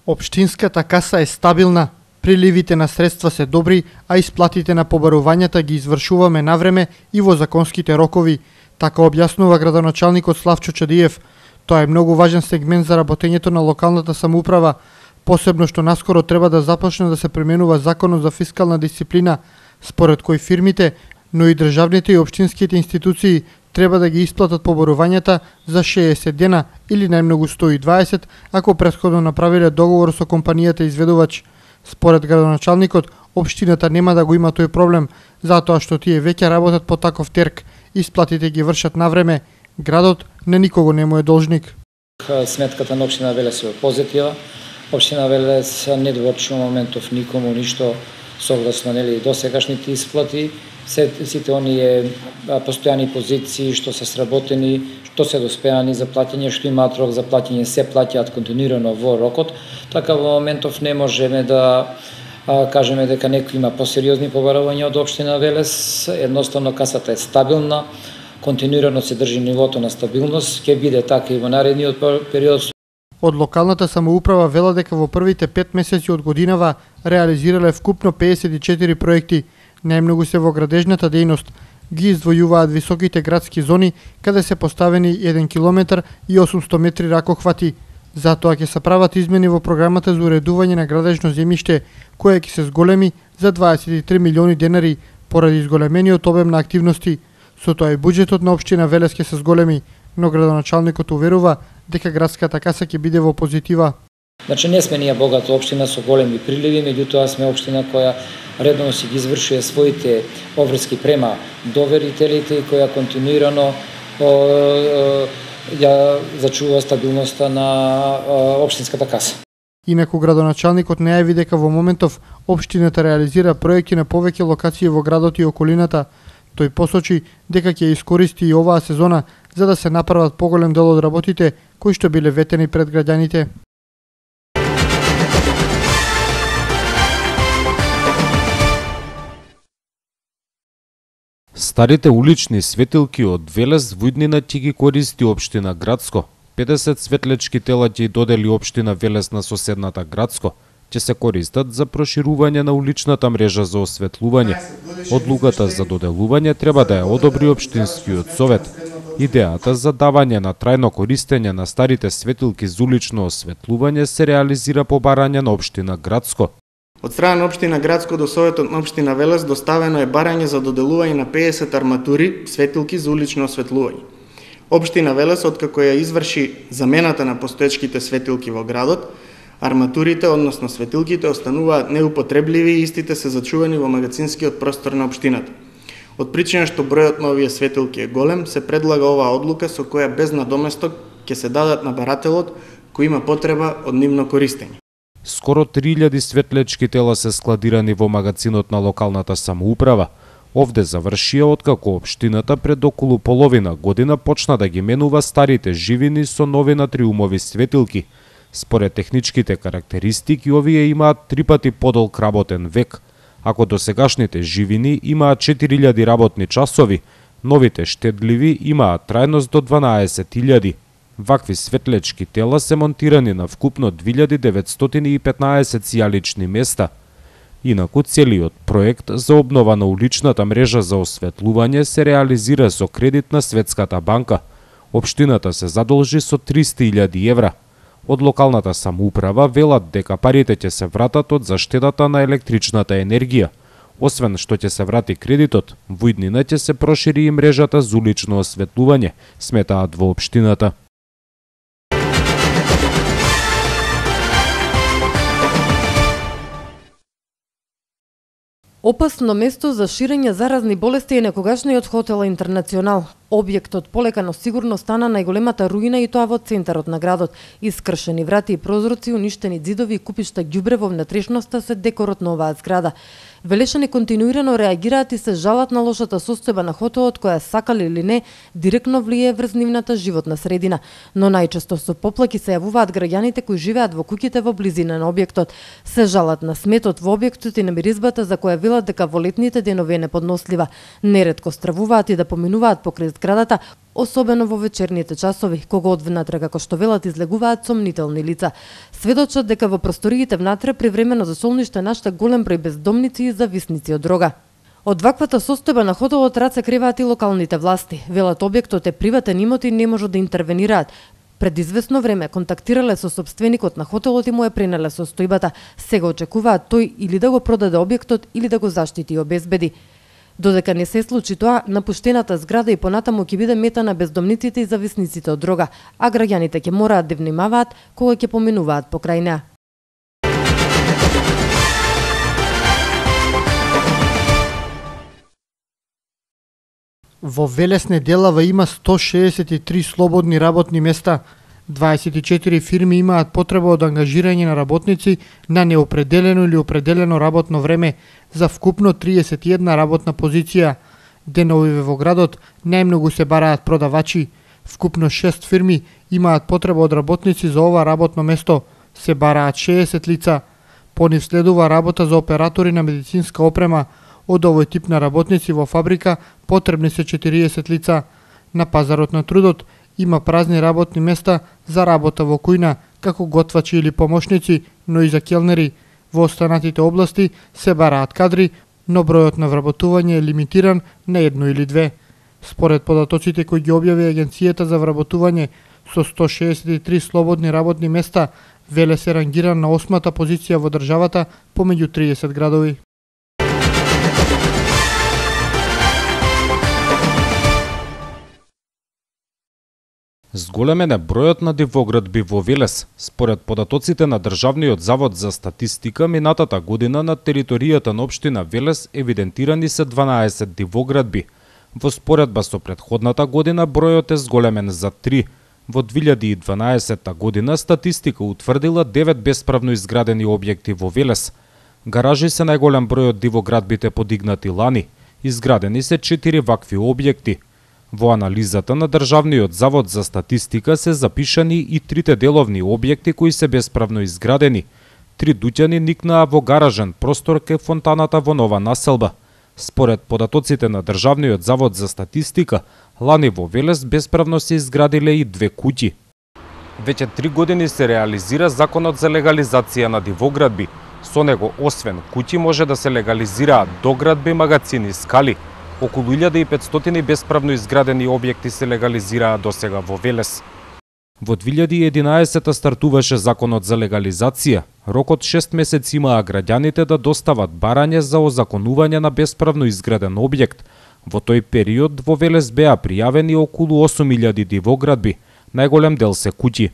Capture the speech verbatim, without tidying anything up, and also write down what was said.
Општинската каса е стабилна, приливите на средства се добри, а исплатите на побарувањата ги извршуваме навреме и во законските рокови, така објаснува градоначалникот Славчо Чадиев. Тоа е многу важен сегмент за работењето на локалната самоуправа, посебно што наскоро треба да започне да се применува законот за фискална дисциплина, според кој фирмите, но и државните и општинските институции треба да ги исплатат побарувањата за шеесет дена или најмногу сто и дваесет, ако претходно направиле договор со компанијата изведувач. Според градоначалникот, општината нема да го има тој проблем, затоа што тие веќе работат по таков терк, исплатите ги вршат навреме, градот на никого не му е должник. Сметката на општина Велес е позитива. Општина Велес не доврши во моментов никому ништо согласно нели досегашните исплати. Сите оние постојани позиции што се сработени, што се доспеани за плаќање, што имаат рок за плаќање, се плаќаат континуирано во рокот. Така во моментов не можеме да а, кажеме дека некој има посериозни побарувања од општина Велес. Едноставно касата е стабилна, континуирано се држи нивото на стабилност, ќе биде така и во наредниот период. Од локалната самоуправа вела дека во првите пет месеци од годинава реализирале вкупно пеесет и четири проекти. Најмногу се во градежната дејност. Ги издвојуваат високите градски зони, каде се поставени еден километар и осумсто метри ракохвати. Затоа ќе се прават измени во програмата за уредување на градежно земјиште, кое ќе се зголеми за дваесет и три милиони денари, поради зголемениот обем на активности. Со тоа и буџетот на општина Велес ќе се зголеми, но градоначалникот уверува дека градската каса ќе биде во позитива. Значи не сме ние богата општина со големи приливи, меѓутоа сме општина која редовно си ги извршува своите обврски према доверителите и која континуирано ја зачува стабилноста на општинската каса. Инаку градоначалникот најави дека во моментов општината реализира проекти на повеќе локации во градот и околината. Тој посочи дека ќе искористи и оваа сезона за да се направат поголем дел од работите кои што биле ветени пред граѓаните. Старите улични светилки од Велес во иднина ќе ги користи општина Градско. педесет светлечки тела ќе додели општина Велес на соседната Градско. Ќе се користат за проширување на уличната мрежа за осветлување. Одлуката за доделување треба да ја одобри општинскиот совет. Идејата за давање на трајно користење на старите светилки за улично осветлување се реализира по барање на општина Градско. Од страна на општина Градско до Советот на општина Велес доставено е барање за доделување на пеесет арматури светилки за улично осветлување. Општина Велес, откако ја изврши замената на постоечките светилки во градот, арматурите, односно светилките, остануваат неупотребливи и истите се зачувани во магазинскиот простор на општината. Од причина што бројот на овие светилки е голем, се предлага оваа одлука со која без надоместок ќе се дадат на барателот кој има потреба од нивно користење. Скоро три илјади светлечки тела се складирани во магазинот на локалната самоуправа. Овде завршија откако општината пред околу половина година почна да ги менува старите живини со нови натриумови светилки. Според техничките карактеристики, овие имаат три пати подолг работен век. Ако досегашните живини имаат четири илјади работни часови, новите штедливи имаат трајност до дванаесет илјади. Вакви светлечки тела се монтирани на вкупно две илјади деветстотини и петнаесет сијалични места. Инаку целиот проект за обнова на уличната мрежа за осветлување се реализира со кредит на Светската банка. Општината се задолжи со триста илјади евра. Од локалната самоуправа велат дека парите ќе се вратат од заштедата на електричната енергија. Освен што ќе се врати кредитот, во иднина ќе се прошири и мрежата за улично осветлување, сметаат во општината. Опасно место за ширење заразни болести е некогашниот хотел Интернационал. Објектот полека но сигурно стана најголемата руина и тоа во центарот на градот. Искршени врати и прозорци, уништени ѕидови и купишта ѓубре во внатрешноста се декорот на оваа зграда. Велешани континуирано реагираат и се жалат на лошата состојба на хотелот која сакали или не директно влијае врз нивната животна средина, но најчесто со поплаки се јавуваат граѓаните кои живеат во куќите во близина на објектот. Се жалат на сметот во објектот и на миризбата за која велат дека во летните денови е неподнослива. Неретко стравуваат и да поминуваат покрај зградата, особено во вечерните часови, кога од внатре, како што велат, излегуваат сомнителни лица. Сведочат дека во просториите внатре привремено за солниште нашта голем број бездомници и зависници од дрога. Од ваквата состојба на хотелот раце креваат и локалните власти. Велат објектот е приватен имот и не можат да интервенираат. Пред известно време контактирале со сопственикот на хотелот и му е пренеле состојбата. Сега очекуваат тој или да го продаде објектот или да го заштити и обезбеди. Додека не се случи тоа, напуштената зграда и понатаму ќе биде мета на бездомниците и зависниците од дрога, а граѓаните ќе мораат да внимаваат кога ќе поминуваат покрај неа. Во Велес неделава има сто шеесет и три слободни работни места. дваесет и четири фирми имаат потреба од ангажирање на работници на неопределено или определено работно време за вкупно триесет и една работна позиција. Деновиве во градот најмногу се бараат продавачи. Вкупно шест фирми имаат потреба од работници за ова работно место. Се бараат шеесет лица. По нив следува работа за оператори на медицинска опрема. Од овој тип на работници во фабрика потребни се четириесет лица. На пазарот на трудот има празни работни места за работа во кујна, како готвачи или помошници, но и за келнери. Во останатите области се бараат кадри, но бројот на вработување е лимитиран на едно или две. Според податоците кои ги објави Агенцијата за вработување, со сто шеесет и три слободни работни места, Велес е рангиран на осмата позиција во државата помеѓу триесет градови. Зголемен е бројот на дивоградби во Велес. Според податоците на Државниот завод за статистика, минатата година на територијата на општина Велес евидентирани се дванаесет дивоградби. Во споредба со претходната година бројот е зголемен за три. Во две илјади и дванаесетта година статистика утврдила девет бесправно изградени објекти во Велес. Гаражи се најголем број од дивоградбите подигнати лани. Изградени се четири вакви објекти. Во анализата на Државниот завод за статистика се запишани и трите деловни објекти кои се бесправно изградени. Три дуќани никнаа во гаражен простор кај фонтаната во нова населба. Според податоците на Државниот завод за статистика, лани во Велес бесправно се изградиле и две куќи. Веќе три години се реализира законот за легализација на дивоградби. Со него, освен куќи, може да се легализираат доградби, магацини, скали. Околу илјада и петстотини бесправно изградени објекти се легализираа досега во Велес. Во две илјади и единаесетта стартуваше законот за легализација. Рокот шест месеци имаа граѓаните да достават барање за озаконување на бесправно изграден објект. Во тој период во Велес беа пријавени околу осум илјади дивоградби, најголем дел се куќи.